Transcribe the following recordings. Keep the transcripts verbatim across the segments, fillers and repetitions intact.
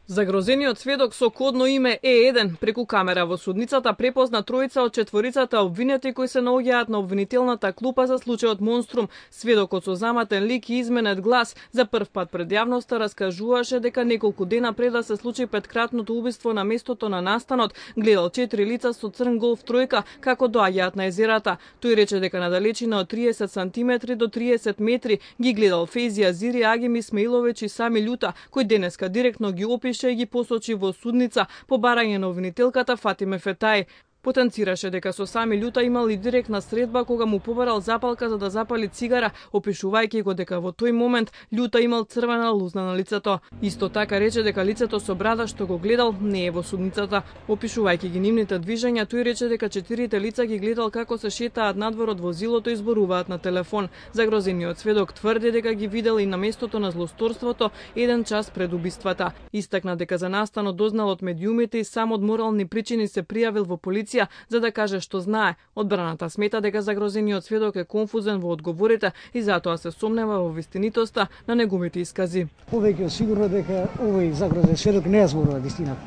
Загрозениот сведок со кодно име Е еден преку камера во судницата препозна тројца од четворицата обвинети кои се наоѓаат на обвинителната клупа за случајот Монструм. Сведокот со заматен лик и изменет глас за прв пат пред јавноста раскажуваше дека неколку дена пред да се случи петкратното убиство на местото на настанот, гледал четири лица со црн голф тројка како доаѓаат на езерата. Тој рече дека на далечина од триесет сантиметри до триесет метри ги гледал Фейзи Азири, Агим Исмаиловиќ и Сами Љута, кој денеска директно ги опише и ги посочи во судница по барање на обвинителката Фатиме Фетај. Потенцираше дека со Сами Љута имал и директна средба кога му побарал запалка за да запали цигара, опишувајќи го дека во тој момент Љута имал црвена лузна на лицето. Исто така рече дека лицето со брада што го гледал не е во судницата. Опишувајќи ги нивните движења, тој рече дека четирите лица ги гледал како се шетаат надвор од возилото и зборуваат на телефон. Загрозениот сведок тврди дека ги видел и на местото на злосторството еден час пред убиствата. Истакна дека за настанот дознал од медиумите и сам од морални причини се пријавил во полиција за да каже што знае. Одбраната смета дека загрозениот сведок е конфузен во одговорите и затоа се сомнева во вистинитоста на неговите искази. Повеќе сигурно дека овој загрозен сведок не ја зборува вистината.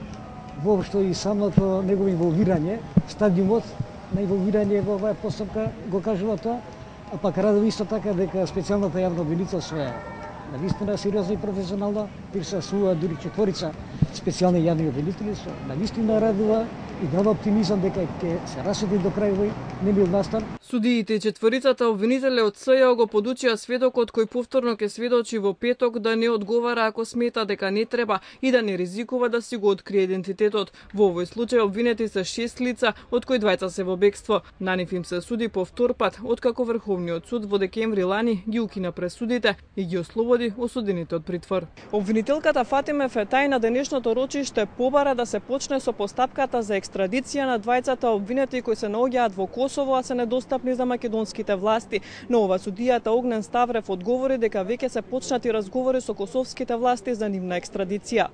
Воопшто и самото негово инволвирање, стадиумот на инволвирање во оваа постапка го кажува тоа, а пак радови исто така дека специјалната јавна обвинител своја навистина сериозно и професионално присуствува дури четворица специјални јавни обвинители, навистина радува и дава оптимизам дека ќе се расветли до крај овој немил настан. Судиите и четворицата обвинители од СЈО го подучија сведокот кој повторно ќе сведочи во петок да не одговара ако смета дека не треба и да не ризикува да си го открие идентитетот. Во овој случај обвинети се шест лица, од кои двајца се во бегство. На нив им се суди по втор пат, откако Врховниот суд во декември лани ги укина пресудите и ги ослободи осудените од притвор. Обвинителката Фатиме Фетај на денешното рочиште побара да се почне со постапката за екстрадиција на двајцата обвинети кои се наоѓаат во Косово, а се недостапни за македонските власти. Но ова судијата Огнен Ставрев одговори дека веќе се почнати разговори со косовските власти за нивна екстрадиција.